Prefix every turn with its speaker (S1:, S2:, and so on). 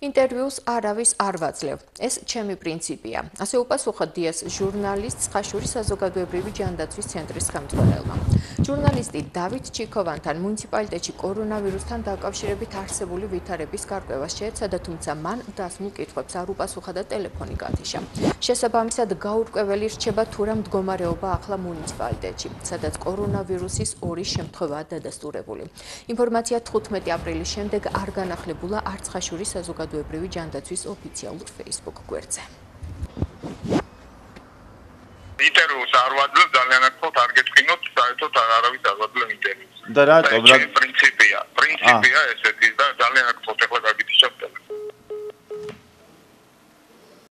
S1: ინტერვიუს არავის არ ვაძლევ. ეს ჩემი პრინციპია. ასე უპასუხა დიას ჟურნალისტს ხაშურის საზოგადოებრივი ჯანდაცვის ცენტრის ხელმძღვანელმა. ჟურნალისტი დავით ჩიქოვანთან მუნიციპალიტეტში კორონავირუსთან დაკავშირებით არსებული ვითარების გარკვევას შეეცადა, თუმცა მან დასმულ კითხვებს არ უპასუხა და ტელეფონი გათიშა. შესაბამისად, გაურკვეველი რჩება თუ რა მდგომარეობა ახლა მუნიციპალიტეტში, სადაც კორონავირუსის 2 შემთხვევაა დადასტურებული. ინფორმაცია 15 აპრილის შემდეგ არ განახლებულა არც ხაშურის საზოგადოებრივი ჯანდაცვის ოფიციალურ Facebook გვერდზე.
S2: ინტერვიუს არ ვაძლევ, ძალიან აქ არ გეტყვინოთ, საერთოდ არავის არ ვაძლევ ინტერვიუს.
S3: და რატომ?
S2: პრინციპია ესეთი და ძალიან აქ ეხლა